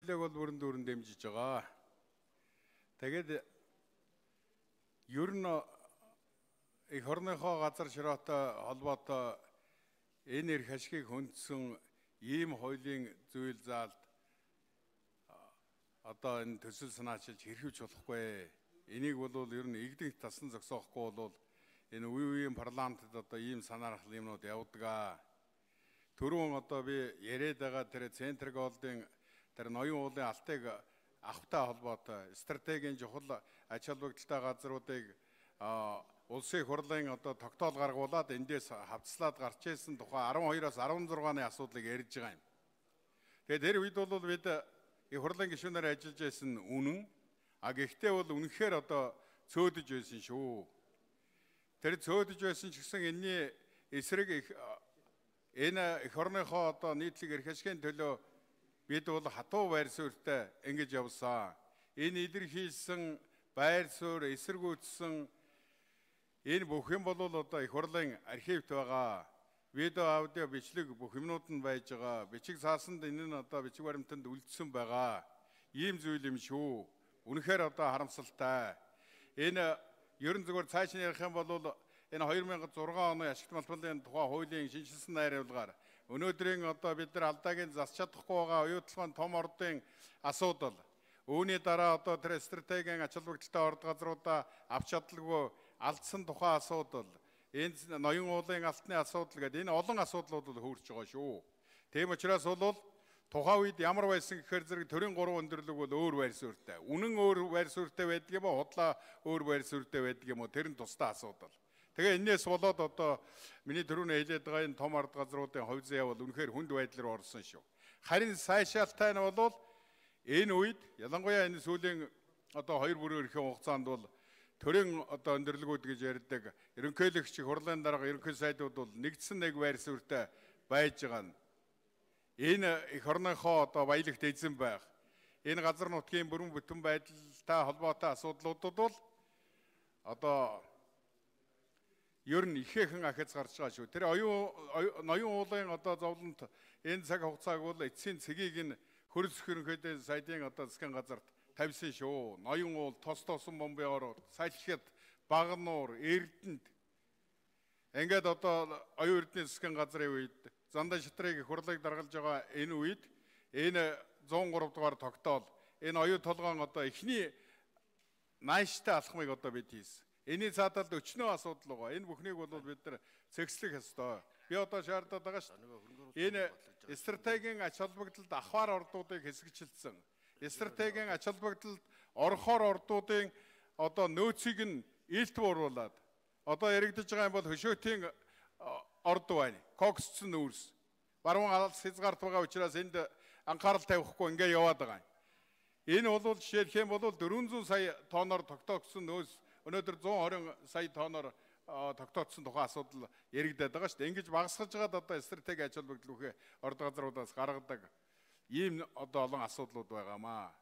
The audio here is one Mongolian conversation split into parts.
хүлээг бол бүрэн дүүрэн дэмжиж байгаа. Тэгээд ер нь их орныхоо газар широотой холбоотой энэ эрх ашгийг хөндсөн ийм хуулийн зүйл заалд одоо энэ төсөл санаачилж хэрхэж болохгүй. Энийг бол ер нь игдэнх тасан зогсоохгүй бол энэ үеийн парламентд одоо ийм санаархал юмнууд явдаг. Түрүүн одоо би яриад байгаа тэр центрик голдын тэр ноён уулын алтыг авахтай холбоотой стратегийн чухал ач холбогдолтой газруудыг улсын хурлын одоо тогтоол гаргуулад эндээс хавцлаад гарч ирсэн тухай 12-аас 16-ны асуудлыг ярьж байгаа юм. Тэгээд тэр үед бол бид их хурлын гишүүнээр ажиллаж байсан үнэн, гэхдээ бол үнэхээр одоо цөөдөж байсан шүү. Тэр цөөдөж байсан ч гэсэн энэний эсрэг энэ их орныхоо одоо нийтлэг эрх ашигын төлөө бид бол хатуу байр суурьтай ингэж явсан. Энэ илэрхийлсэн байр суурь эсэргүүцсэн энэ бүх юм бол одоо их хурлын архивт байгаа. Видео, аудио, бичлэг бүх юмнууд нь байж байгаа. Бичиг цаасанд энэ нь одоо бичиг баримтанд үлдсэн байгаа. Ийм зүйл юм шүү. Үнэхээр одоо харамсалтай. Энэ ерөн зүгээр цааш нь ярих юм бол энэ 2006 оны ашигт малбарын тухай хуулийн шинжилсэн найруулгаар өнөөдрийн одоо бид нар алдаагийн засч чадахгүй байгаа оюутлын том ордын асуудал. Үүний дараа одоо тэр стратегийн ач холбогдолтой орд газруудаа авч чадлагүй алдсан тухай асуудал. Энэ ноён уулын алтны асуудал гэдэг энэ олон асуудлууд бол хөрж байгаа шүү. Тийм учраас бол тухайн үед ямар байсан гэхээр зэрэг төрийн 3 өндөрлөг бол өөр байр суурьтай. Үнэн өөр байр суурьтай байдаг юм уу? Худлаа өөр байр суурьтай байдаг юм уу? Тэр нь тусдаа асуудал. Тэгээ энэс болоод одоо миний түрүүний хэлээд байгаа энэ том ард газруудын хувь заяа бол үнэхээр хүнд байдал руу орсон шүү. Харин сайшаалтай нь бол энэ үед ялангуяа энэ сүүлийн одоо 2 бүрийн эрхийн хугацаанд бол төрийн одоо өндөрлөгүүд гэж ярьдаг ерөнхийлөгч хурлын дарга ерөнхий сайдууд бол нэгдсэн нэг байр суурьтай байж байгаа нь. Энэ их орныхоо одоо баялагт эзэн байх. Энэ газар нутгийн бүрэн бүтэн байдалтай холбоотой асуудлуудад бол одоо ер нь ихээхэн ахиц гарч байгаа шүү. Тэр ноён уулын одоо зовлонт энэ цаг хугацааг бол эцсийн цэгийг нь хөрс хөрөнхөд сайдын одоо засгийн газарт тавьсан шүү. Ноён уул, тос тосон бомбын ороод, салхит, Багнуур, Эрдэнэт ингээд одоо оюун эрдэнэ засгийн газрын үед Зандаа шатрыг их хурлыг даргалж байгаа энэ үед энэ 103 дугаар тогтоол энэ оюун толгоон одоо эхний нааштай алхмыг одоо бид хийсэн. Энийн цааталд өчнөө асуудал байгаа. Энэ бүхнийг бол бид нар цэгцлэх ёстой. Би одоо шаардаад байгаа шүү. Энэ стратегийн ач холбогдолд ахвар ордуудыг хэсэгчилсэн. Стратегийн ач холбогдолд орохоор ордуудын одоо нөөцийг нь илт бууруулад одоо яригдж байгаа юм бол хөшөөтийн орд байна. Коксцсон нүүрс. Баруун алс хязгаарт байгаа учраас энд анхаарал тавихгүй ингээ яваад байгаа. Энэ бол жишээлх юм бол 400 сая тонноор тогтоогдсон нөөц өнөөдөр 120 сая тонноор тогтоодсон тухайн асуудал яригдаад байгаа шүү дээ. Ингэж багасгаж байгаад одоо стратеги ач холбогдол бүхий орд газруудаас гаргадаг ийм одоо олон асуудлууд байгаамаа.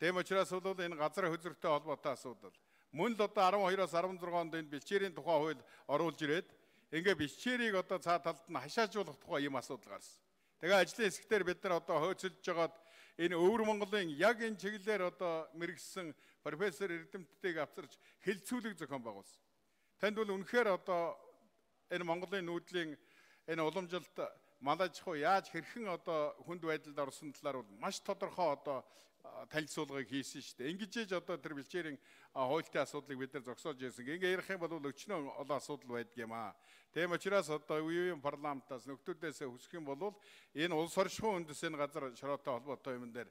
Тийм учраас бол энэ газар хөзөртэй холбоотой асуудал. Мөн л одоо 12-оос 16 онд энэ бэлчээрийн тухай хууль оруулж ирээд ингээ бэлчээрийг одоо цаа талд нь хашаажуулах тухай ийм асуудал гарсан. Тэгээ ажлын хэсгээр бид нар одоо хөөцөлж жагаад энэ өвөр Монголын яг энэ чиглэлээр одоо мэрэгсэн профессор Эрдэмтдийг авчирч хэлцүүлэг зохион байгуулсан. Танд бол үнэхээр одоо энэ Монголын нүүдлийн энэ уламжилт малаж хуу яаж хэрхэн одоо хүнд байдалд орсон талаар бол маш тодорхой одоо танилцуулгыг хийсэн шүү дээ. Ингэж ээж одоо тэр бэлчээрийн хуультай асуудлыг бид нар зогсоож ирсэн. Ингээ ярих юм бол өчнөө олон асуудал байдаг юм аа. Тийм учраас одоо үеийн парламентаас нөхдүүдээс хүсэх юм бол энэ улс оршихуйн үндэс энэ газар широотой холбоотой юм дээр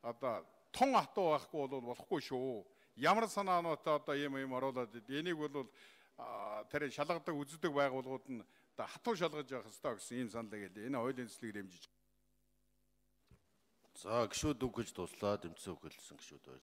одоо тун хатуу байхгүй бол болохгүй шүү. Ямар санаануудаа одоо ийм оруулаад энийг бол тэр шалгадаг үздэг байгууллагууд нь хатуу шалгаж явах ёстой гэсэн ийм саналыг хэлээ. Энэ хуулийн төслийг дэмжиж. За гişүүд үг гэж дуслаа, дэмжсэн үг хэлсэн гişүүд байна.